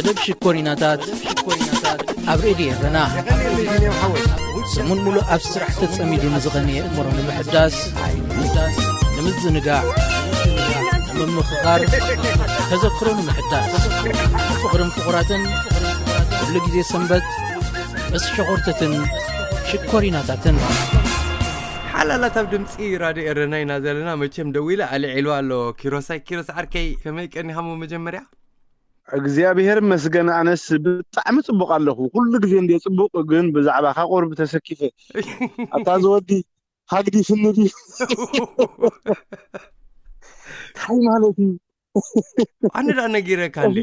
መደብ ሽኮሪናታት ኣብ ሬድዮ ኤረና። ሰሙን ሙሉእ ኣብ ስራሕ ተጸሚዱ ንዝቐነየ እምሮ ንምሕዳስ፣ ንምዝንጋዕ፣ ንምምኽኻር፣ ተዘክሮ ንምሕዳስ፣ ፍቕርን ፍቑራትን፣ ኩሉ ግዜ ሰንበት ምስ ሸኾርተትን ሽኮሪናታትን። ሓላላት ኣብ ድምፂ ራድዮ ኤረና ኢና ዘለና። መቸም ደዊለ ኣልዒሉ ኣሎ። ኪሮሳይ፣ ኪሮስ ዓርከይ፣ ከመይ ቀኒኻ? ሞ መጀመርያ እግዚኣብሔር መስገን፣ ኣነስ ብጣዕሚ ጽቡቕ ኣለኹ። ኩሉ ግዜ እንደ ጽቡቕ፣ ግን ብዛዕባኻ ቁርብ ተሰኪፈ። ኣታ ዝወዲ ሃግዲ ፍንዲ እንታይ ማለት እዩ? ኣነ ደኣ ነጊረካ እንዴ?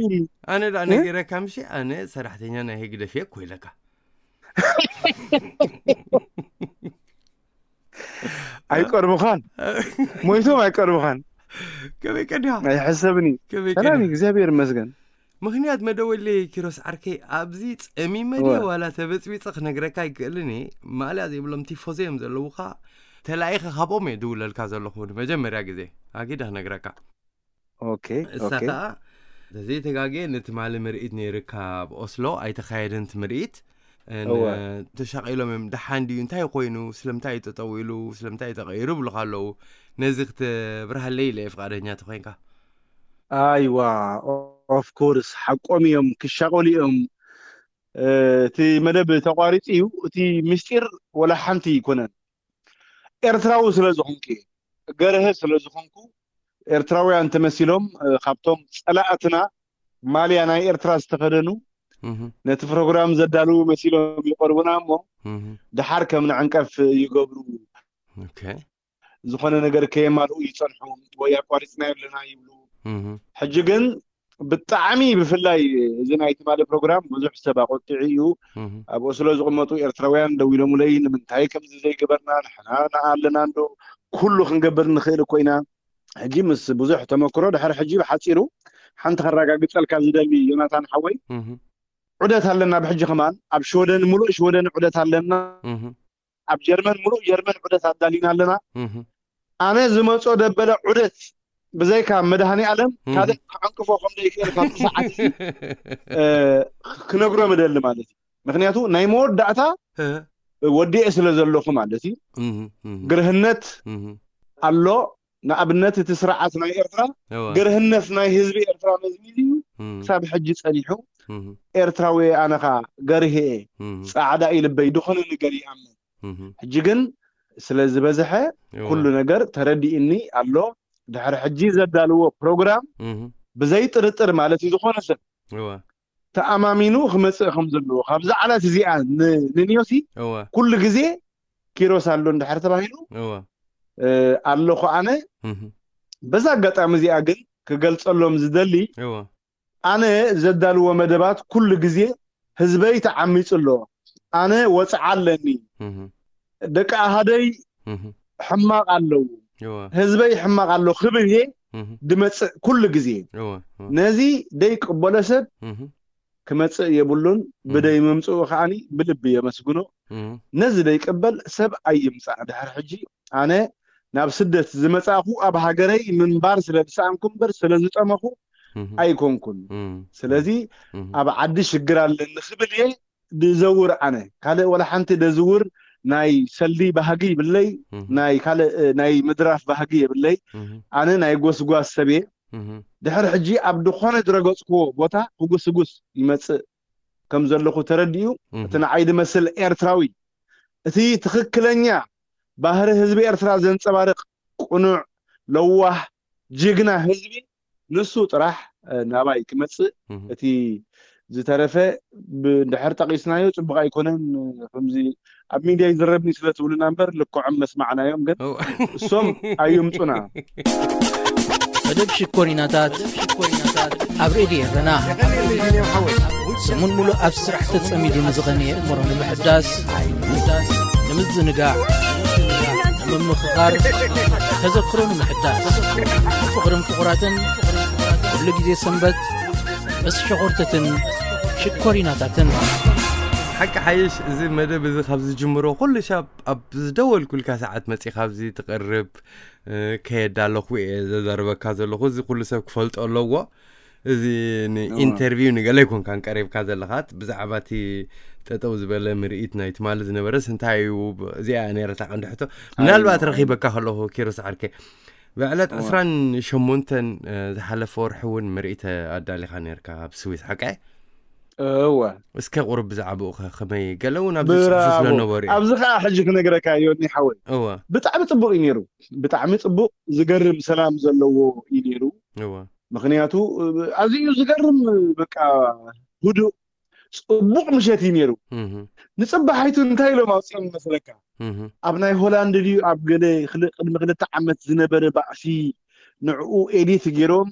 ኣነ ደኣ እ? ነጊረካ ምሽ፣ ኣነ ሰራሕተኛ ናይ ህግደፍ እየ እኮ ኢለካ። ኣይቀርብኻን። ሞይቶም ኣይቀርብኻን። ከመይ ቀዲኻ? ኣይሕሰብን እዩ። ከመይ ሰላም እዩ፣ ቀዲኻ? እግዚኣብሔር ይመስገን። ምኽንያት መደወለይ ኪሮስ ዓርከይ፣ ኣብዚ ጸሚመ ድየ እወ። ዋላ ተበጽቢጸ ክነግረካ ኣይክእልን እየ። ማልያ ዘይብሎም ቲፎዞ እዮም ዘለዉኻ። ተላኢኸ ካብኦም እየ ድውለልካ ዘለኹ ንመጀመርያ ግዜ። ኣጊደ ክነግረካ። ኦኬ፣ እሳ ኦኬ። ከኣ፣ ተዘይተጋግየ፣ ንትማሊ ምርኢት ነይርካ ኣብ ኦስሎ፣ ኣይተኻየደን እቲ ምርኢት። ን-፣ እወ። ተሻቒሎም እዮም። ደሓን ድዩ? እንታይ ኮይኑ? ስለምንታይ እዩ ጠጠው ኢሉ? ስለምንታይ እዩ ተቐይሩ? ይብሉኻ ኣለዉ። ነዚ ክትብርሃለይ ኢለ እየ፣ ፍቓደኛ ተኾይንካ። ኣይዋ፣ ኦ-፣ ኦፍ ኮርስ፣ ሓቆም እዮም፣ ክሻቐሉ እዮም። እ፣ እቲ መደብ ተቋሪጹ እዩ። እቲ ምስጢር ወላ ሓንቲ ኣይኮነን። ኤርትራዊ ስለ ዝኾንኩ እየ። ገርሀ ስለ ዝኾንኩ፣ ኤርትራውያን ተመሲሎም፣ እ፣ ካብቶም ጸላእትና ማልያ ናይ ኤርትራ ዝተኸደኑ፣ እህ። ነቲ ፕሮግራም ዘዳልዉ መሲሎም ይቐርቡና እሞ፣ እህ። ደሓር ከም ንዕንቀፍ ይገብሩ። ኦኬ። ዝኾነ ነገር ከየማልኡ ይጸንሑ፣ ወይ ኣቋሪጽና ኣለና ይብሉ። እህ። ሕጂ ግን ብጣዕሚ ብፍላይ እዚ ናይ ትማሊ ፕሮግራም ብዙሕ ሰብ ኣቆጢዑ እዩ። እህ። ኣብ ኦስሎ ዝቕመጡ ኤርትራውያን ደዊሎምለይ፣ "ንምንታይ ከምዚ ዘይገበርና? ንሕና ኣለና እንዶ፣ ኩሉ ክንገብር ንኽእል እኮ ኢና። ሕጂ ምስ ብዙሕ ተመክሮ ድሕሪ ሕጂ ብሓጺሩ ሓንቲ ከረጋግጸልካ ዝደሊ ዮናታን ሓወይ፣ እህ። ዑደት ኣለና። ብሕጂ ከማን ኣብ ሽወደን፣ ሙሉእ ሽወደን ዑደት ኣለና። እህ። ኣብ ጀርመን፣ ሙሉእ ጀርመን ዑደት ኣዳሊና ኣለና። እህ። ኣነ ዝመጾ ደበለ ዑደት ብዘይካ መድሃኔ ኣለም እህ። ካልእ ክዕንቅፎ ከም ዘይክእል ካብቲ ሰዓት እዚ፣ እ፣ ክነግሮም እደሊ ማለት እዩ። ምክንያቱ ናይ መወዳእታ እ። ወዲኤ ስለ ዘለኹ ማለት እዩ። እህ፣ እህ። ግርህነት እህ። ኣሎ። ንኣብነት እቲ ስርዓት ናይ ኤርትራ እወ። ግርህነት ናይ ህዝቢ ኤርትራ መዝሚዙ እዩ እህ። ክሳብ ሕጂ ጸኒሑ። እህ። ኤርትራዊ ኣነ ኸኣ ገርህ እየ። እህ። ጻዕዳ እዩ ልበይ፣ ዝኾነ ነገር ይኣምን። እህ። ሕጂ ግን ስለ ዝበዝሐ እወ። ኩሉ ነገር ተረዲእኒ ኣሎ። ድሕሪ ሕጂ ዘዳልዎ ፕሮግራም እህ። ብዘይ ጥርጥር ማለት እዩ፣ ዝኾነ ሰብ እወ። ተኣማሚኑ ክመጽእ ከም ዘለዎ፣ ካብዛ ዓላት እዚኣ ን-፣ ንንዮሲ እወ። ኩሉ ግዜ ኪሮስ ኣሎ እንድሕር ተባሂሉ፣ እወ። እ፣ ኣለኹ ኣነ። እህ። በዛ ኣጋጣሚ እዚኣ ግን ክገልጸሎም ዝደሊ፣ እወ። ኣነ ዘዳልዎ መደባት ኩሉ ግዜ ህዝበይ ተዓሚጹ ኣሎ። ኣነ ወጽዓ ኣለኒ። እህ። ደቂ ኣሃደይ እህ። ሕማቕ ኣለዉ። እወ። ህዝበይ ሕማቕ ኣሎ ክብል እየ እህ። ድመጽእ ኩሉ ግዜ። እወ፣ እወ። ነዚ ደይቅበሎ ሰብ እህ። ክመጽእ የብሉን። እህ። ብደይ ምምጽኡ ከኣኒ ብልቢ የመስግኖ። እህ። ነዚ ደይቅበል ሰብ ኣይምጻእ። ድሕሪ ሕጂ ኣነ ናብ ስደት ዝመጻእኩ ኣብ ሃገረይ ምንባር ስለ ዝሰኣንኩ እምበር ስለ ዝጠመኹ እህ። ኣይኮንኩን። እህ። ስለዚ እህ። ኣብ ዓዲ ሽግር ኣለኒ ክብል እየ ድዘውር ኣነ። ካልእ ወላ ሓንቲ ደዝውር ናይ ሰልዲ ባህጊ ይብለይ፣ እህ። ናይ ካልእ፣ እ፣ ናይ ምድራፍ ባህጊ የብለይ። እህ። ኣነ ናይ ጎስጓስ ሰብ እየ። እህ። ድሕሪ ሕጂ ኣብ ድኾነ ዝረገጽክዎ ቦታ ክጉስጉስ ይመጽእ ከም ዘለኹ ተረዲኡ፣ እህ። እቲ ንዓይ ድመስል ኤርትራዊ፣ እቲ ትኽክለኛ ባህሪ ህዝቢ ኤርትራ ዘንጸባርቕ ቅኑዕ፣ ለዋህ፣ ጅግና ህዝቢ ንሱ ጥራሕ፣ እ፣ ናባይ ክመጽእ፣ እህ። እቲ ዝተረፈ ብ-፣ እንድሕር ጠቒስናዮ ጽቡቕ ኣይኮነን። ከምዚ ኣብ ሚድያ ይዝረብኒ ስለ ትብሉና እምበር ልክዖም መስማዕናዮም፣ ግን እው። እሶም ኣይምጹና። መደብ ሽኮሪናታት ኣብ ሬድዮ ኤረና። ሰሙን ሙሉእ ኣብ ስራሕ ተጸሚዱ ንዝቐነየ እምሮ ንምሕዳስ፣ ንምዝንጋዕ፣ ንምምኽኻር፣ ተዘክሮ ንምሕዳስ፣ ፍቕርን ፍቑራትን፣ ኩሉ ግዜ ሰንበት ምስ ሸኾርተትን ሽኮሪናታትን። ሓቂ ሓይሽ፣ እዚ መደብ እዚ ካብ ዝጅምሮ ኩሉ ሻብ ኣብ ዝደወልኩልካ ሰዓት መጺኻ ኣብዚ ትቐርብ፣ እ፣ ከየዳ ኣለኹ እየ ዘዛርበካ ዘለኹ። እዚ ኩሉ ሰብ ክፈልጦ ኣለዎ። እዚ ንኢንተርቪው ንገለ ኣይኮንካን ቀሪብካ ዘለኻት ብዛዕባ እቲ ጠጠው ዝበለ ምርኢት ናይ ትማሊ ዝነበረስ እንታይ እዩ? እዚኣ ነረታ ቀንዲ ሕቶ። ምናልባት ረኺበካ ከለኹ ኪሮስ ዓርከይ ብዕለት ዕስራን ሸሞንተን ዝሓለፈ ወርሒ እውን ምርኢት ኣዳሊኻ ነርካ ኣብ ስዊስ ሓቀ? እወ እስከ ቁሩብ ብዛዕባኡ ከ ከመይ ገለ እውን ኣብዚ ጽሑፍ ብራቮ ስለነበሩ እዩ። ኣብዚ ከዓ ሕጂ ክነግረካ ዮኒ ሓወይ እወ ብጣዕሚ ፅቡቅ እዩ ነይሩ። ብጣዕሚ ፅቡቅ ዝገርም ሰላም ዘለዎ እዩ ነይሩ። እወ ምክንያቱ ኣዝዩ ዝገርም በቃ ህዱእ ፅቡቅ ምሸት እዩ ነይሩ። እህ ንፅባሓይቱ እንታይ ኢሎም ኣውፅኦም መስለካ? እህ ኣብ ናይ ሆላንድ ድዩ ኣብ ገለ ክል- ቅድሚ ክልተ ዓመት ዝነበረ ባእሲ ንዕኡ ኤዲት ገይሮም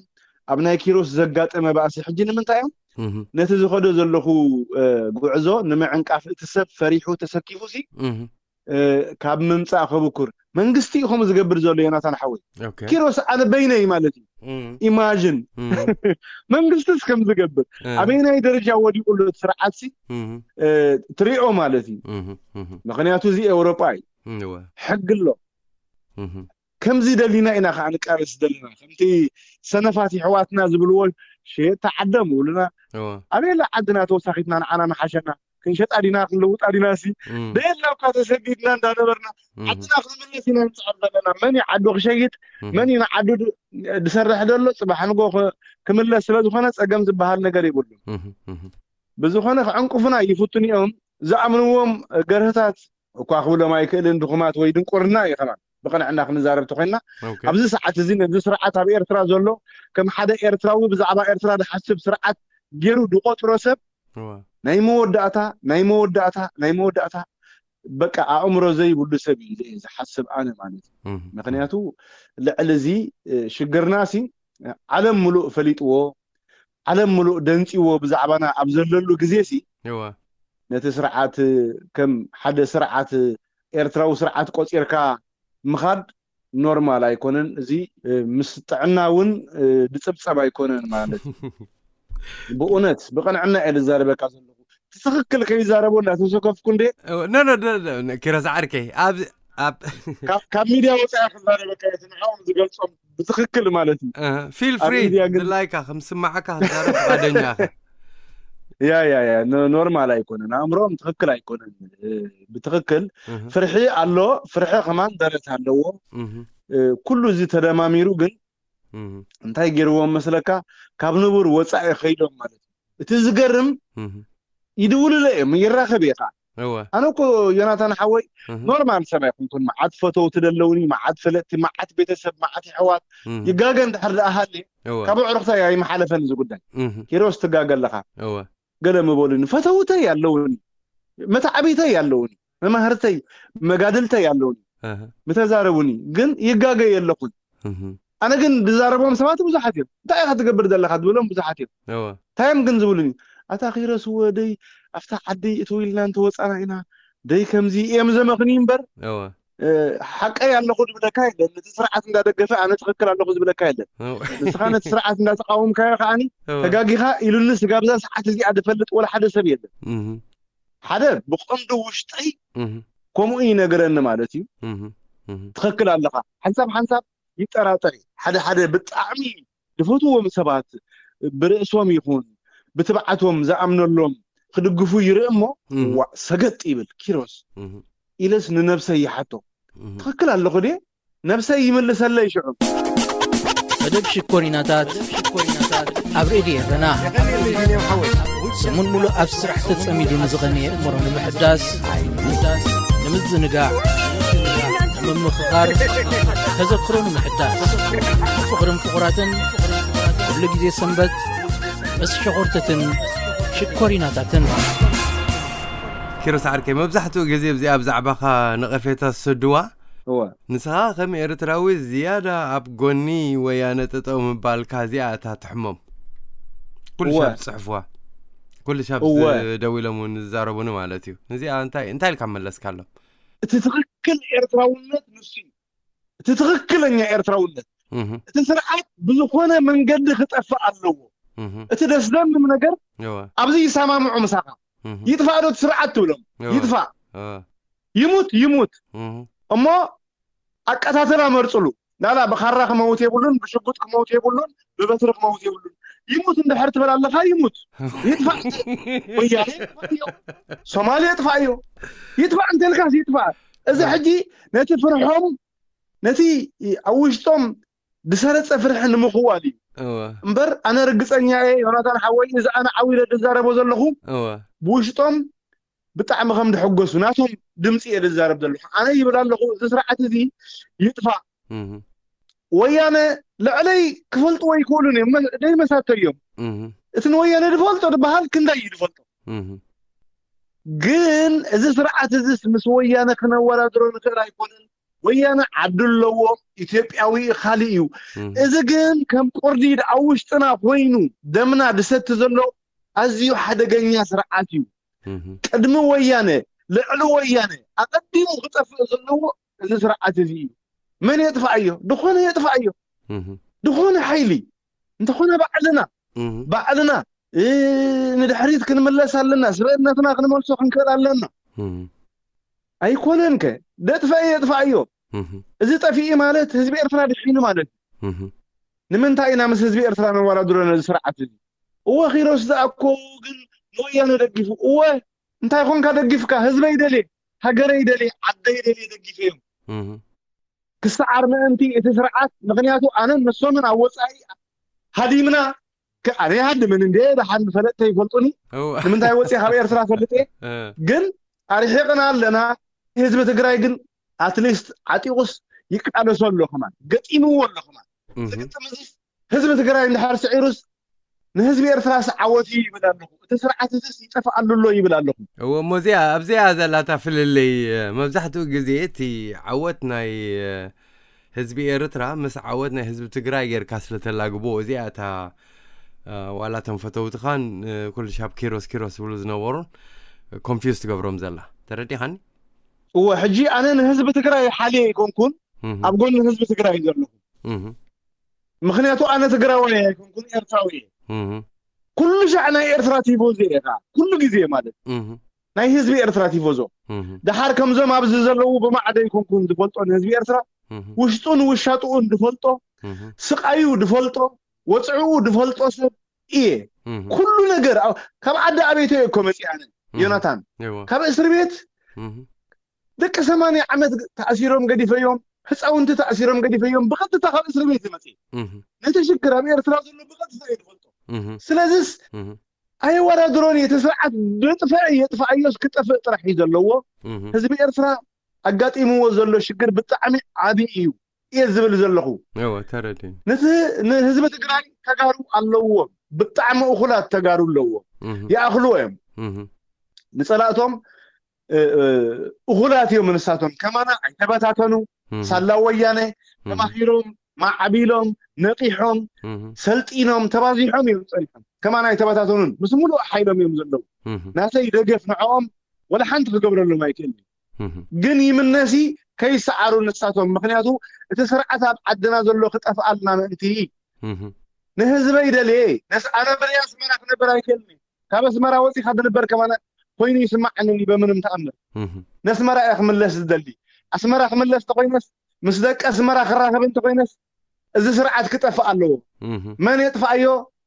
ኣብ ናይ ኪሮስ ዘጋጠመ ባእሲ ሕጂ ንምንታይ እዮም እህ ነቲ ዝኸዶ ዘለኹ እ፣ ጉዕዞ ንምዕንቃፍ እቲ ሰብ ፈሪሑ ተሰኪፉ ሲ እህ እ፣ ካብ ምምፃእ ከብኩር መንግስቲ እዩ ከምኡ ዝገብር ዘሎ ዮናታን ሓወይ። ኦኬ ኪሮስ ኣነ በይነይ ማለት እዩ። እህ ኢማጅን እህ መንግስቲስ ከም ዝገብር እህ ኣበይናይ ደረጃ ወዲቁ ኣሎ እቲ ስርዓት ሲ እህ እ፣ ትሪኦ ማለት እዩ። እህ እህ ምክንያቱ እዚ ኤውሮጳ እዩ እወ ሕጊ ኣሎ። እህ ከምዚ ደሊና ኢና ከዓ ንቃለስ ዘለና ከምቲ ሰነፋት ይሕዋትና ዝብልዎ ሸየጥቲ ዓዶም ይብሉና። እወ ኣበየላ ዓድና ተወሳኺትና ንዓና መሓሸና ክንሸጣ ዲና ክንለውጣ ዲና ሲ እህ ደየላ እኳ ተሰዲድና እንዳነበርና እህ ዓድና ክንምለስ ኢና ንፅዕር ዘለና። መን እዩ ዓዱ ክሸይጥ እህ መን እዩ ንዓዱ ድ- ድሰርሕ ደሎ ፅባሕ ንጎ ክ- ክምለስ ስለ ዝኾነ ፀገም ዝበሃል ነገር የብሉን። እህ እህ ብዝኾነ ክዕንቁፉና ይፍትኑ እዮም። ዝኣምንዎም ገርህታት እኳ ክብሎም ኣይክእልን ድኹማት ወይ ድንቁርና እዩ ከማን ብቕንዕና ክንዛረብ ተኮይንና ኦኬ ኣብዚ ሰዓት እዚ ነዚ ስርዓት ኣብ ኤርትራ ዘሎ ከም ሓደ ኤርትራዊ ብዛዕባ ኤርትራ ዝሓስብ ስርዓት ገይሩ ድቆጥሮ ሰብ እወ ናይ መወዳእታ ናይ መወዳእታ ናይ መወዳእታ በቃ ኣእምሮ ዘይብሉ ሰብ እዩ ኢለ እየ ዝሓስብ ኣነ ማለት እዩ። እህ ምክንያቱ ልዕሊ እዚ እ፣ ሽግርና ሲ ዓለም ሙሉእ ፈሊጥዎ ዓለም ሙሉእ ደንፂዎ ብዛዕባና ኣብ ዘለሉ ግዜ ሲ እወ ነቲ ስርዓት ከም ሓደ ስርዓት ኤርትራዊ ስርዓት ቆፂርካ ምኻድ ኖርማል ኣይኮነን። እዚ እ፣ ምስ ጥዕና እውን እ፣ ድፅብፀብ ኣይኮነን ማለት እዩ። ብእውነት ብቕንዕና እየ ዝዛረበካ ዘለኹ። ትኽክል ከይዛረቦ እናተሰከፍኩ እንደ ኖ ኖ ኪሮስ ዓርከይ ኣብ ኣብ ካብ- ካብ ሚድያ ወፃኢ ክዛረበካ እየ። እቲ ንዕኦም ዝገልፆም ብትኽክል ማለት እዩ። ፊል ኣብ ፍሪ ሚድያ ግን ድላይካ ከም ዝስማዓካ ክትዛረብ ፍቃደኛ ኢኻ። ያ ያ ያ ኖ- ኖርማል ኣይኮነን። ኣእምሮኦም ትኽክል ኣይኮነን። እ፣ ብትኽክል እህ ፍርሒ ኣሎ። ፍርሒ ከማን ደረት ኣለዎ። እህ እ፣ ኩሉ እዚ ተደማሚሩ ግን እህ እንታይ ገይርዎም መስለካ? ካብ ንቡር ወፃኢ ከይዶም ማለት እዩ። እቲ ዝገርም እህ ይድውልለ እዮም ይራኸብ እየ ከዓ። እወ ኣነ እኮ ዮናታን ሓወይ እህ ኖርማል ሰብ ኣይኮንኩን። መዓት ፈተውቲ ደለውኒ፣ መዓት ፈለጥቲ፣ መዓት ቤተሰብ፣ መዓት ይሕዋት እህ ይጋገ እንድሕር ደኣ ሃልየ እወ ካብ ኣዕሩኽታ ኣይመሓለፈን እዚ ጉዳይ። እህ ኪሮስ ትጋገ ኣለኻ እወ ገለ ምበሉኒ፣ ፈተውተይ ኣለውኒ፣ መታዕቢተይ ኣለውኒ፣ መማህርተይ መጋድልተይ ኣለውኒ፣ እህ ምተዛረቡኒ ግን ይጋገ የለኹን። እህ ኣነ ግን ዝዛረቦም ሰባት ብዙሓት እዮም። እንታይ ኢኻ ትገብር ዘለኻ ዝበሎም ብዙሓት እዮም። እወ እንታይ እዮም ግን ዝብሉኒ? ኣታ ኪሮስ ወደይ ኣብታ ዓደይ እትው ኢልና እንተወፃና ኢና ደይ ከምዚ እዮም ዘመኽንዩ እምበር እወ እ፣ ሓቀይ ኣለኹ ዝብለካ የለን። ነቲ ስርዓት እንዳደገፈ ኣነ ትኽክል ኣለኹ ዝብለካ የለን። እወ ንስኻ ነቲ ስርዓት እንዳተቃወምካዮ ከዓኒ እወ ተጋጊኻ ኢሉኒ ስጋብ እዛ ሰዓት እዚኣ ዝፈልጥ ወላ ሓደ ሰብ የለን። እህ ሓደ ብቐንዱ ውሽጠይ እህ ከምኡ ይነግረኒ ማለት እዩ። እህ እህ ትኽክል ኣለኻ። ሓንሳብ ሓንሳብ ይጠራጠር እዩ። ሓደ ሓደ ብጣዕሚ ዝፈትዎም ሰባት ብርእሶም ይኹን ብትብዓቶም ዝኣምነሎም ክድግፉ ይርኢ እሞ እህ ዋ ሰገጥ ይብል። ኪሮስ እህ ኢለስ ንነብሰይ ይሓቶ እህ ትኽክል ኣለኹ ድየ? ነብሰይ ይምልሰለይ ሽዑ። መደብ ሽኮሪናታት ኣብ ሬድዮ ኤረና ሰሙን ሙሉእ ኣብ ስራሕ ተጸሚዱ ንዝኸነ የእምሮ ንምሕዳስ ንምዝንጋዕ ንምምኽኻር ተዘክሮ ንምሕዳስ ፍቕርን ፍቑራትን ኩሉ ግዜ ሰንበት ምስ ሸኾርተትን ሽኮሪናታትን ኪሮስ ዓርከይ መብዛሕትኡ ግዜ ብዚኣ ብዛዕባኻ ነቐፌታ ዝሰድዋ እወ ንስኻ ከም ኤርትራዊ ዝያዳ ኣብ ጎኒ ወያነ ጠጠው ምባልካ እዚኣ እታ ትሕሞም ኩሉ እወ። ሻብ ዝፅሕፍዋ ኩሉ ሻብ እወ። ደዊሎም እውን ዝዛረቡኒ ማለት እዩ። እዚኣ እንታይ እንታይ ኢልካ መለስካሎም? እቲ ትኽክል ኤርትራውነት ንሱ እዩ። እቲ ትኽክለኛ ኤርትራውነት እህ እቲ ስርዓት ብዝኾነ መንገዲ ክጠፍእ ኣለዎ። እህ እቲ ደስደምም ነገር እወ ኣብዚ ይሰማምዑ ምሳኻ እህ ይጥፋእ ዶ እቲ ስርዓት ትብሎም እወ ይጥፋእ እወ ይሙት ይሙት እህ እሞ ኣቀታተላ መርፅሉ ናላ ብኻራ ክመውት የብሉን ብሽጉጥ ክመውት የብሉን። ብበትሪ ክመውት የብሉን። ይሙት እንድሕር ትብል ኣለኻ፣ ይሙት፣ ይጥፋእ። ወያነ ይጥፋእዮ፣ ሶማሌ ይጥፋእዮ። ይጥፋእ እንተልካስ ይጥፋእ። እዚ ሕጂ ነቲ ፍርሖም፣ ነቲ ኣብ ውሽጦም ዝሰረጸ ፍርሒ ንምኽዋል እዩ። እምበር ኣነ ርግጸኛ እየ፣ ዮናታን ሓወይ፣ እዚ ኣነ ዓው ኢለ ዝዛረቦ ዘለኹ፣ ብውሽጦም ብጣዕሚ ከም ድሕጎሱ ናቶም ድምፂ እየ ዝዛረብ ዘለኹ። ኣነ ይብል ኣለኹ፣ እዚ ስርዓት እዚ ይጥፋእ። ወያነ ልዕለይ ክፈልጥዎ ይክእሉን እዮም፣ ደይመሳተይ እዮም። እቲ ንወያነ ዝፈልጦ ዝበሃል ክንዳይ እዩ ዝፈልጦ። ግን እዚ ስርዓት እዚስ ምስ ወያነ ክነወዳድሮ ንክእል ኣይኮነን። ወያነ ዓዲ ኣለዎ፣ ኢትዮጵያዊ ካልእ እዩ። እዚ ግን ከም ቁርዲድ ኣብ ውሽጥና ኮይኑ ደምና ድሰቲ ዘሎ ኣዝዩ ሓደገኛ ስርዓት እዩ። ቅድሚ ወያነ፣ ልዕሊ ወያነ ኣቐዲሙ ክጠፍእ ዘለዎ እዚ ስርዓት እዚ እዩ። መን የጥፍኣዮ? ድኾነ የጥፍኣዮ። ድኾነ ሓይሊ እንተኾነ ባዕልና፣ ባዕልና ንድሕሪት ክንምለስ ኣለና። ስብእነትና ክንመልሶ ክንክእል ኣለና። ኣይኮነን ከ ደጥፍአ የጥፍኣዮ። እዚ ጠፊኢ ማለት ህዝቢ ኤርትራ ድሒኑ ማለት እዩ። ንምንታይ ኢና ምስ ህዝቢ ኤርትራ ነወዳድሮ ነዚ ስርዓት እዚ? እወ ኪሮስ ዝኣኮ ግን ንወያነ ደጊፉ። እወ እንታይ ኮንካ ደጊፍካ? ህዝበይ ደልየ፣ ሃገረይ ደልየ፣ ዓደይ ደልየ ደጊፈዮም። ክሰዓር ምእንቲ እቲ ስርዓት፣ ምኽንያቱ ኣነን ንሶምን ኣብ ወጻኢ ሃዲምና፣ ከ-፣ ኣነ ይሃድምን እንዴ፣ ደሓን ፈለጥተ ይፈልጡኒ። ንምንታይ ወጺእ ካብ ኤርትራ ፈልጥ እየ። ግን ኣርሒቕና ኣለና። ህዝቢ ትግራይ ግን ኣትሊስት ዓጢቑስ ይቃለሶ ኣሎ ከማን፣ ገጢምዎ ኣሎ ከማን። ዝግጥም እዚ ህዝቢ ትግራይ እንድሕር ስዒሩስ ንህዝቢ ኤርትራስ ዓወት እዩ ይብል ኣለኹ። እቲ ስርዓት እዚስ ይጠፍኣሉ ኣሎ ይብል ኣለኹ። እወ፣ እሞ እዚኣ፣ ኣብዚኣ ዘላታ ፍልልይ፣ መብዛሕትኡ ግዜ እቲ ዓወት ናይ፣ ህዝቢ ኤርትራ ምስ ዓወት ናይ ህዝቢ ትግራይ ጌርካ ስለ ተላግቦ፣ እዚኣ እታ፣ ዋላ እቶም ፈተውትኻን፣ ኩሉ ሻብ ኪሮስ ኪሮስ ዝብሉ ዝነበሩን ኮንፊውዝ ትገብሮም ዘላ። ተረዲኻኒ? እወ፣ ሕጂ ኣነ ንህዝቢ ትግራይ ሓልየ ኣይኮንኩን፣ ኣብ ጎኒ ህዝቢ ትግራይ ዘለኹ። ምኽንያቱ ኣነ ትግራዋይ ኣይኮንኩን፣ ኤርትራዊ እየ። ኩሉ ሻዕ ናይ ኤርትራ ቲፎዚ እየ፣ ኩሉ ግዜ ማለት ናይ ህዝቢ ኤርትራ ቲፎዞ። ደሓር ከምዞም ኣብዚ ዘለዉ ብማዕዶ ኣይኮንኩን ዝፈልጦ ንህዝቢ ኤርትራ፣ ውሽጡን ውሻጥኡን ዝፈልጦ፣ ስቃዩ ዝፈልጦ፣ ወፅዕኡ ዝፈልጦ ሰብ እየ። ኩሉ ነገር ኣብ-፣ ካብ ዓዲ ኣበይቶ እየ እኮ መፂእ ኣነ፣ ዮናታን። ካብ እስር ቤት ደቂ ሰማንያ ዓመት ተኣሲሮም ገዲፈዮም፣ ህፃውንቲ ተኣሲሮም ገዲፈዮም፣ ብቐጥታ ካብ እስር ቤት ዝመፅእ። ነቲ ሽግር ኣብ ኤርትራ ዘሎ ብቐጥታ እየ ዝፈልጦ። ስለዚስ ኣየወዳድሮን እየ። እቲ ስርዓት ድጥፍእ የጥፍኣዮስ ክጠፍእ ጥራሕ እዩ ዘለዎ። ህዝቢ ኤርትራ ኣጋጢምዎ ዘሎ ሽግር ብጣዕሚ ዓብዪ እዩ እየ ዝብል ዘለኹ። እወ፣ ተረዲኒ። ነቲ ንህዝቢ ትግራይ ተጋሩ ኣለዎ፣ ብጣዕሚ እኹላት ተጋሩ ኣለዎ። ይኣኽልዎ እዮም። ንጸላእቶም፣ እ፣ እ፣ እኹላት እዮም ንሳቶም። ከማና ኣይተበታተኑ። ሳላ ወያነ ተማሂሮም፣ ማዕቢሎም፣ ነቂሖም፣ ሰልጢኖም፣ ተባዚሖም እዮም ጸኒሖም። ከማና ኣይተበታተኑን። ምስ ሙሉእ ሓይሎም እዮም ዘለዉ። ናተይ ደገፍ ንዕኦም ወላ ሓንቲ ክገብረሎም ኣይክእልን። ግን ይምነሲ ከይሰዓሩ ንሳቶም። ምኽንያቱ እቲ ስርዓት ኣብ ዓድና ዘሎ ክጠፍኣልና ምእንቲ። ንህዝበይ ደልየ፣ ነስ-፣ ኣነ ብናይ ኣስመራ ክነብር ኣይክእልን። ካብ ኣስመራ ወፂኻ ዝንበር ከማና ኮይኑ ይስማዓኒ በምንም ተኣምር። ነስመራ እየ ክምለስ ዝደሊ። ኣስመራ ክምለስ ተኮይነስ፣ ምስ ደቂ ኣስመራ ክራኸብ እንተኮይነስ፣ እዚ ስርዓት ክጠፍእ ኣለዎ። መን የጥፍኣዮ?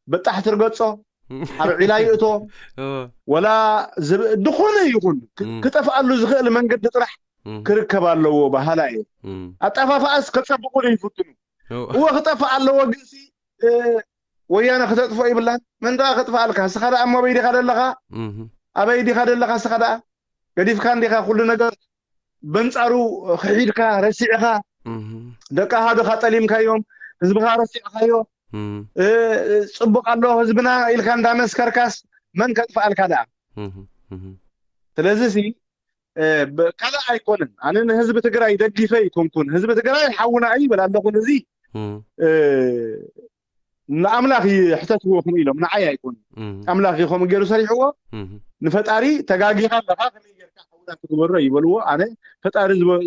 በጣሕ ትርገጾ፣ ኣብ ዒላ ይእቶ፣ እወ። ወላ ዝብ-፣ ድኾነ ይኹን ክ-፣ እም። ክጠፍኣሉ ዝኽእል መንገዲ ጥራሕ እም። ክርከብ ኣለዎ በሃላ እየ። እም። ኣጠፋፍኣስ ከጸብቑሉ ይፍትኑ። እወ። እወ ክጠፍእ ኣለዎ ግንሲ፣ እ፣ ወያነ ክተጥፍኦ ይብላን። መን ደኣ ከጥፍኣልካ? እስኻ ደኣ እሞ ኣበይ ዲኻ ደለኻ? እም። ኣበይ ዲኻ ደለኻ እስኻ ደኣ? ገዲፍካ እንዲኻ ኩሉ ነገር በንጻሩ ክሒድካ ረሲዕኻ እም። ደቂ ኣሃዱኻ ጠሊምካዮም፣ ህዝብኻ ረሲዕኻዮ፣ እም። እ፣ ጽቡቕ ኣሎ ህዝብና ኢልካ እንዳመስከርካስ መን ከጥፍኣልካ ደኣ? እም። እም። ስለዚ ሲ፣ እ፣ ብ-፣ ካልእ ኣይኮነን። ኣነ ንህዝቢ ትግራይ ደጊፈ ኣይኮንኩን። ህዝቢ ትግራይ ሓውና እዩ ይብል ኣለኹ። እዚ፣ እም። እ፣ ንኣምላኽ ይሕተትዎ ከምኡ ኢሎም፣ ንዓይ ኣይኮኑን። እም። ኣምላኽ እዩ ከምኡ ገይሩ ሰሪሕዎ። እም። ንፈጣሪ ተጋጊኻ ኣለኻ፣ ከመይ ጌርካ ሓውና ትግበሮ ይበልዎ። ኣነ ፈጣሪ ዝገ-፣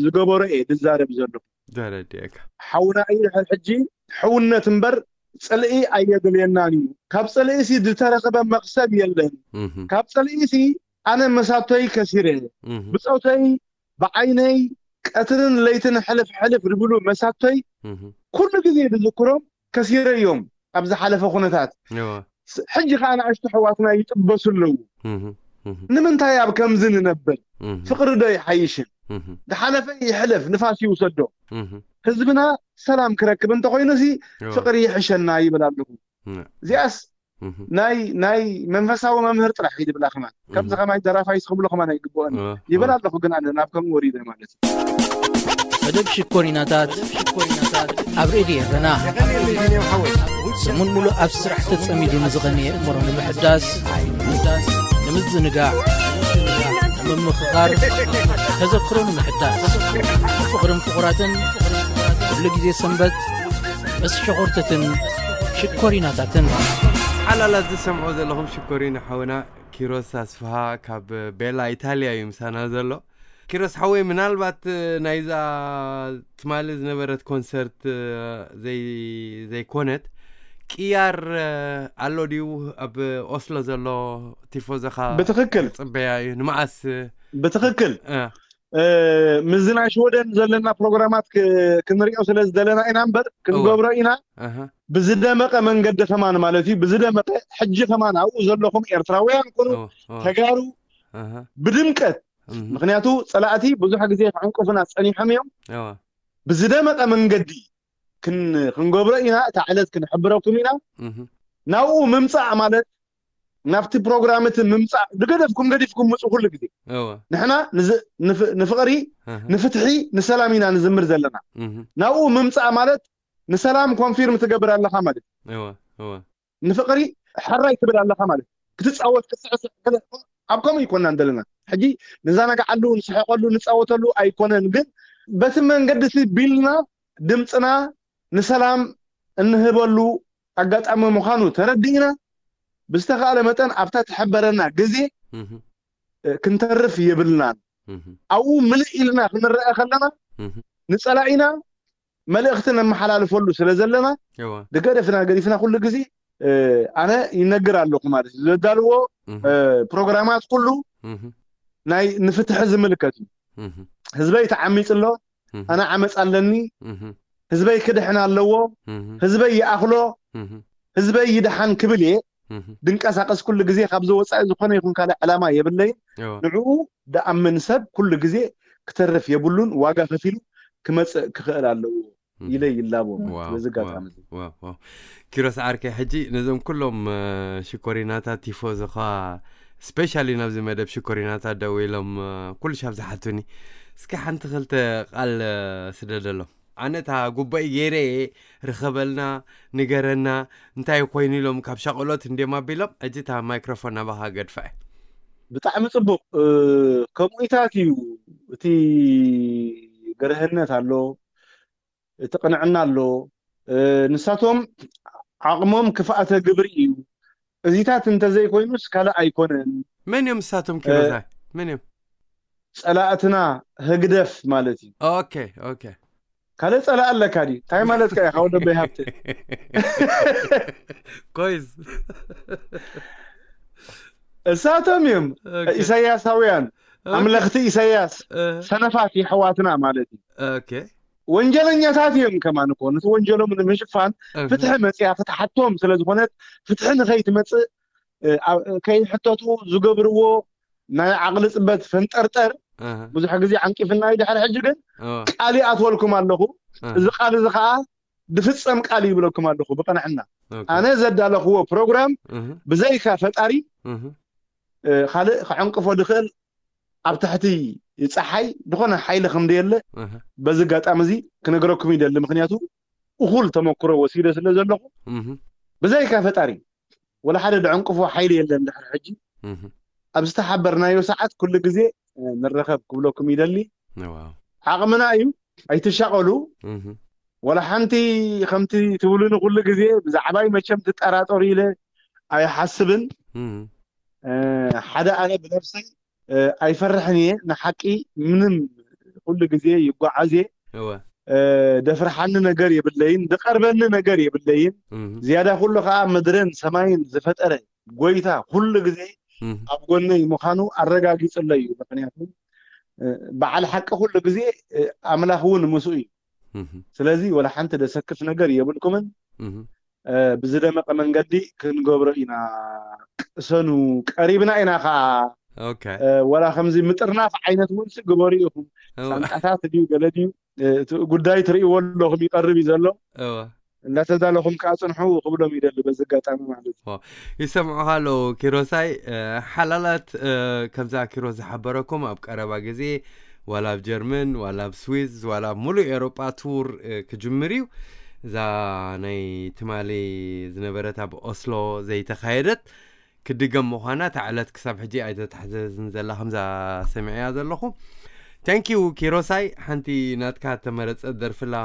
ዝገበሮ እየ ዝዛረብ ዘለኹ። ተረዲኤካ። ሓውና እዩ ድሕር ሕጂ ሕውነት እምበር ጽልኢ ኣየድልየናን እዩ። ካብ ጽልኢሲ ዝተረኸበ መኽሰብ የለን። እም። ካብ ጽልኢሲ ኣነ መሳቶይ ከሲረ። እም። ብጾተይ፣ ብዓይነይ፣ ቀትርን ለይትን ሕልፍ ሕልፍ ዝብሉ መሳቶይ እም። ኩሉ ግዜ ዝዝክሮም ከሲረ እዮም። ኣብ ዝሓለፈ ኩነታት ሕጂ ከዓ ንኣሽቱ ኣሕዋትና ይጥበሱ ኣለዉ። ንምንታይ ኣብ ከምዚ ንነብር? ፍቅሪ ዶ ይሓይሽን? ዝሓለፈ ይሕለፍ፣ ንፋስ ይውሰዶ። ህዝብና ሰላም ክረክብ እንተኮይኑ ሲ ፍቅሪ ይሕሸና ይብል ኣለኹ። እዚኣስ ናይ ናይ መንፈሳዊ መምህር ጥራሕ እዩ ዝብላ ከማን ከምዚ ከማይ ደራፋይ ስክብሎ ከማን ኣይግብኦን ይብል ኣለኹ። ግን ኣነ ናብ ከምኡ ወሪደ ማለት እዩ። መደብ ሽኮሪናታት ኣብ ሬድዮ ኤረና ሰሙን ሙሉእ ኣብ ስራሕ ተጸሚዱ ንዝቐነየ እምሮ ንምሕዳስ ንምዝንጋዕ ንምምኽኻር ተዘክሮ ንምሕዳስ ፍቕርን ፍቑራትን ኩሉ ግዜ ሰንበት ምስ ሸኾርተትን ሽኮሪናታትን። ሓላላት ዝሰምዖ ዘለኹም ሽኮሪና ሓውና ኪሮስ ኣስፍሃ ካብ ቤላ ኢታልያ እዩ ምሳና ዘሎ። ኪሮስ ሓወይ ምናልባት ናይዛ ትማሊ ዝነበረት ኮንሰርት ዘይኮነት ቅያር ኣሎ ድዩ ኣብ ኦስሎ ዘሎ ቲፎዞኻ? ብትኽክል ጽበያ እዩ። ንመዓስ ብትኽክል ምስዚ ናይ ሽወደን ዘለና ፕሮግራማት ክንሪኦ ስለ ዝደለና ኢና እምበር ክንገብሮ ኢና። ብዝደመቀ መንገዲ ከማን ማለት እዩ። ብዝደመቀ ሕጂ ከማን ኣብኡ ዘለኹም ኤርትራውያን ኩኑ ተጋሩ ብድምቀት፣ ምክንያቱ ጸላእቲ ብዙሕ ግዜ ክዕንቅፉና ጸኒሖም እዮም። ብዝደመቀ መንገዲ ክንገብሮ ኢና። እታ ዕለት ክንሕብረኩም ኢና። ናብኡ ምምጻእ ማለት ናብቲ ፕሮግራም እቲ ምምጻእ ዝገደፍኩም ገዲፍኩም ምጹ ኩሉ ግዜ። ንሕና ንፍቕሪ ንፍትሒ ንሰላም ኢና ንዝምር ዘለና። ናብኡ ምምጻእ ማለት ንሰላም ኮንፊርም ትገብር ኣለኻ ማለት ንፍቕሪ ሕራይ ትብል ኣለኻ ማለት ክትጻወት ክትስዕስዕ ኣብ ከምኡ ይኮናን ዘለና። ሕጂ ንዛናግዓሉ ንስሐቀሉ ንጻወተሉ ኣይኮነን፣ ግን በቲ መንገዲ ቢልና ድምፅና ንሰላም እንህበሉ ኣጋጣሚ ምዃኑ ተረዲእና ብዝተኻእለ መጠን ኣብታ ትሕበረና ግዜ ክንተርፍ የብልናን። ኣብኡ ምልእ ኢልና ክንረአ ከለና ንፀላኢና መልእኽቲ ነመሓላልፈሉ ስለ ዘለና ድገደፍና ገዲፍና ኩሉ ግዜ ኣነ ይነግር ኣለኹ ማለት እዩ። ዘዳልዎ ፕሮግራማት ኩሉ ናይ ንፍትሒ ዝምልከት እዩ። ህዝበይ ተዓሚፅ ኣሎ፣ ኣነ ዓመፅ ኣለኒ፣ ህዝበይ ክድሕን ኣለዎ፣ ህዝበይ ይኣኽሎ፣ ህዝበይ ይድሓን ክብል እየ ድንቀሳቀስ ኩሉ ግዜ። ካብዚ ወፃኢ ዝኾነ ይኹን ካልእ ዕላማ የብለይን። ንዕኡ ድኣምን ሰብ ኩሉ ግዜ ክተርፍ የብሉን፣ ዋጋ ከፊሉ ክመፅእ ክኽእል ኣለዎ ኢለ ይላቦ። በዚ ኣጋጣሚ ኪሮስ ዓርከይ፣ ሕጂ ነዞም ኩሎም ሽኮሪናታት ቲፎዞኻ ስፔሻሊ ናብዚ መደብ ሽኮሪናታት ደው ኢሎም ኩሉ ሻብ ዝሓቱኒ፣ እስኪ ሓንቲ ክልተ ቃል ስደደሎም። ኣነ እታ ጉባኤ ገይረ እየ፣ ርኸበልና፣ ንገረና እንታይ ኮይኑ ኢሎም ካብ ሻቆሎት እንዲም ኣቢሎም። ሕጂ እታ ማይክሮፎን ናባኻ ገድፋ እየ። ብጣዕሚ ፅቡቅ። ከምኡታት እዩ እቲ ገርህነት ኣሎ፣ እቲ ቅንዕና ኣሎ። ንሳቶም ዓቕሞም ክፍኣተ ግብሪ እዩ። እዚታት እንተዘይኮይኑስ ካልእ ኣይኮነን። መን እዮም ንሳቶም ኪሮሳይ? መን እዮም? ጸላእትና ህግደፍ ማለት እዩ። ኦኬ ኦኬ። ካልእ ጸላእ ኣለካ ድዩ? እንታይ ማለትካ ኢኻ ወደቦይ ሃብተ? ኮይስ እሳቶም እዮም ኢሳያሳውያን፣ ኣምለኽቲ ኢሳያስ፣ ሰነፋት የሕዋትና ማለት እዩ። ኦኬ። ወንጀለኛታት እዮም ከማን እኮ ነቲ ወንጀሎም ንምሽፋን ፍትሒ መፅያ ክትሓቶም ስለ ዝኾነት ፍትሒ ንኸይትመፅእ ከይሕተቱ ዝገብርዎ ናይ ዓቕሊ ፅበት ፈንጠርጠር ብዙሕ ግዜ ዓንቂፍና እዩ። ድሕሪ ሕጂ ግን ቃል ይኣትወልኩም ኣለኹ። እዚ ቃል እዚ ከዓ ድፍፀም ቃል ይብለኩም ኣለኹ ብቅንዕና። ኣነ ዘዳለኽዎ ፕሮግራም ብዘይካ ፈጣሪ ካልእ ክዕንቅፎ ድኽእል ኣብ ትሕቲ ፀሓይ ዝኾነ ሓይሊ ከም ደየለ በዚ ኣጋጣሚ እዚ ክነግረኩም ይደሊ። ምክንያቱ እኹል ተመክሮ ወሲደ ስለ ዘለኹ ብዘይካ ፈጣሪ ወላ ሓደ ድዕንቅፎ ሓይሊ የለን። ድሕሪ ሕጂ ኣብ ዝተሓበርናዮ ሰዓት ኩሉ ግዜ ንረኸብ ክብለኩም ይደሊ። ዓቕምና እዩ፣ ኣይትሻቐሉ። ወላ ሓንቲ ከምቲ ትብሉኒ ኩሉ ግዜ ብዛዕባይ መቸም ትጠራጠሩ ኢለ ኣይሓስብን። ሓደ ኣነ ብነብሰይ ኣይፈርሕን እየ። ንሓቂ ምንም ኩሉ ግዜ ይጓዓዝ እየ። ደፍርሓኒ ነገር የብለይን፣ ዝቐርበኒ ነገር የብለይን። ዝያዳ ኩሉ ከዓ ምድርን ሰማይን ዝፈጠረ ጎይታ ኩሉ ግዜ ኣብ ጎነይ ምዃኑ ኣረጋጊፅለይ እዩ። ምክንያቱ በዓል ሓቂ ኩሉ ግዜ ኣምላኽ እውን ምስኡ እዩ። ስለዚ ወላ ሓንቲ ደሰክፍ ነገር የብልኩምን። ብዝደመቀ መንገዲ ክንገብሮ ኢና። ቅሰኑ፣ ቀሪብና ኢና ከዓ። ወላ ከምዚ ምጥርናፍ ዓይነት እውን ግበሩ ኢኹም። ሳንጣታት ድዩ ገለ ድዩ፣ እቲ ጉዳይ ትርእይዎ ኣለኹም፣ ይቐርብ እዩ ዘሎ። እንዳተዳለኹም ከዓ ፅንሑ ክብሎም ይደሊ በዚ ኣጋጣሚ ማለት እዩ። ይሰምዑኻ ኣለዉ ኪሮሳይ። ሓላላት፣ ከምዛ ኪሮስ ዝሓበረኩም ኣብ ቀረባ ግዜ ዋላ ኣብ ጀርመን ዋላ ኣብ ስዊዝ ዋላ ኣብ ሙሉእ ኤሮጳ ቱር ክጅምር እዩ። እዛ ናይ ትማሊ ዝነበረት ኣብ ኦስሎ ዘይተኻየደት ክድገም ምዃና እታ ዕለት ክሳብ ሕጂ ኣይተታሕዘዝን ዘላ ከምዛ ሰሚዐያ ዘለኹ። Thank you ኪሮሳይ። ሓንቲ ናትካ ተመረፀ ደርፍላ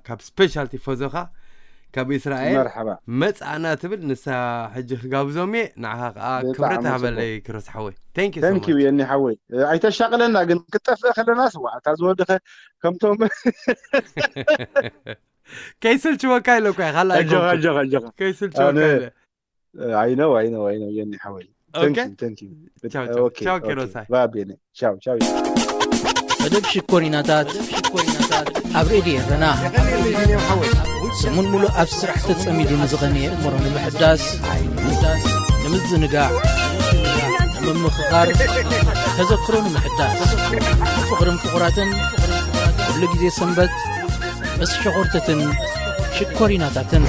ካብ ስፔሻል ቲፎዞኻ ካብ እስራኤል መርሓባ መፅኣና ትብል፣ ንሳ ሕጂ ክጋብዞም እየ። ንዓኻ ከዓ ክብረት ሃበለይ ኪሮስ ሓወይ። Thank you so Thank you much። የኒ ሓወይ። ኣይተሻቅለና ግን ክትጠፍእ ከለና ስዋ እታ ዝወደኸ ከምቶም ከይስልችወካ ኢለ እኮ እየ ካልኣይ ኣጆኻ ኮንኩ። ኣጆኻ ኣጆኻ ከይስልችወካ ኣነ- ኢለ I know I know I know የኒ ሓወይ። ኦኬ። Thank you. ቻው፣ ቻው። ቻው፣ ኪሮሳይ። ባቤነ ቻው ቻው። መደብ ሽኮሪናታት ኣብ ሬድዮ ኤረና ሰሙን ሙሉእ ኣብ ስራሕ ተጸሚዱ ንዝቐነየ እምሮ ንምሕዳስ፣ ንምዝንጋዕ፣ ንምምኽኻር፣ ተዘክሮ ንምሕዳስ፣ ፍቕርን ፍቑራትን ኩሉ ግዜ ሰንበት ምስ ሸኾርትትን ሽኮሪናታትን።